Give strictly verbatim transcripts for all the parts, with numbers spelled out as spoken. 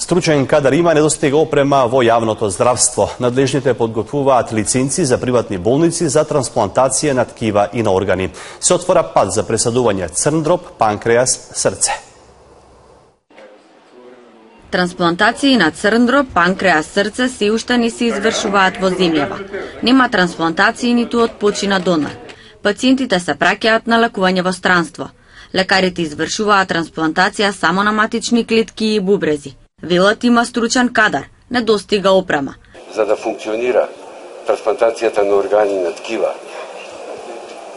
Стручен кадар има, недостига опрема во јавното здравство. Надлежните подготвуваат лиценци за приватни болници за трансплантација на ткива и на органи. Се отвора пат за пресадување црн дроб, панкреас, срце. Трансплантации на црн дроб, панкреас, срце се уште не се извршуваат во земјава. Нема трансплантации ниту од почина донор. Пациентите се праќаат на лекување во странство. Лекарите извршуваат трансплантација само на матични клетки и бубрези. Велат има стручен кадар, недостига опрема. За да функционира трансплантацијата на органи и на ткива,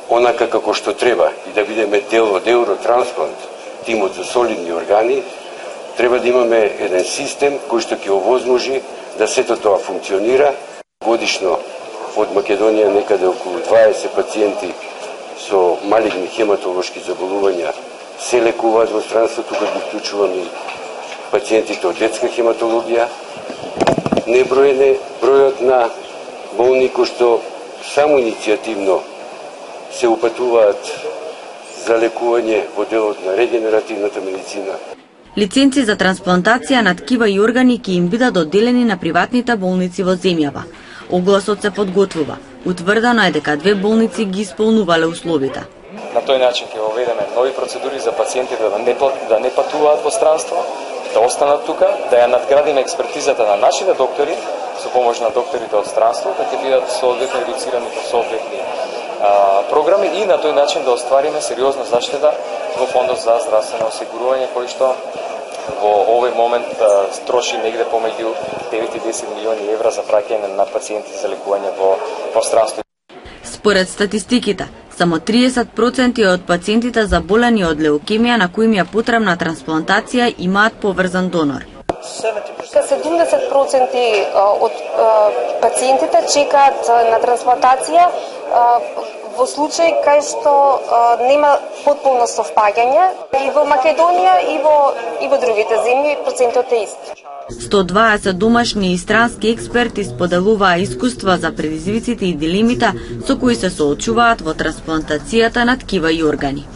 онака како што треба и да бидеме дел од Евротрансплант, тимот за солидни органи, треба да имаме еден систем кој што ќе овозможи да сето тоа функционира. Годишно од Македонија некаде околу дваесет пациенти со малигни хематолошки заболувања се лекуваат во странството, кога ги вклучуваме и пациентите од детска хематологија. Неброен е бројот на болни кои што само иницијативно се упатуваат за лекување во делот на регенеративната медицина. Лиценци за трансплантација на ткива и органи ќе им бидат доделени на приватните болници во земјава. Огласот се подготвува. Утврдено е дека две болници ги исполнувале условите. На тој начин ќе воведеме нови процедури за пациентите да не, да не патуваат во странство, да останат тука, да ја надградиме експертизата на нашите доктори, со помош на докторите од странство, да ќе бидат соодветно едуцирани по соодветни а, програми и на тој начин да оствариме сериозна заштита во Фондот за здравствено осигурување, кој што во овој момент а, троши негде помеѓу девет и десет милиони евра за праќање на пациенти за лекување во, во странство. Според статистиките, само триесет проценти од пациентите заболени од леукемија на кои им е потребна трансплантација имаат поврзан донор. седумдесет проценти од пациентите чекаат на трансплантација во случај кај што нема потполно совпаѓање. И во Македонија и во и во другите земји процентот е ист. сто дваесет домашни и странски експерти споделуваа искуства за предизвиците и дилемите со кои се соочуваат во трансплантацијата на ткива и органи.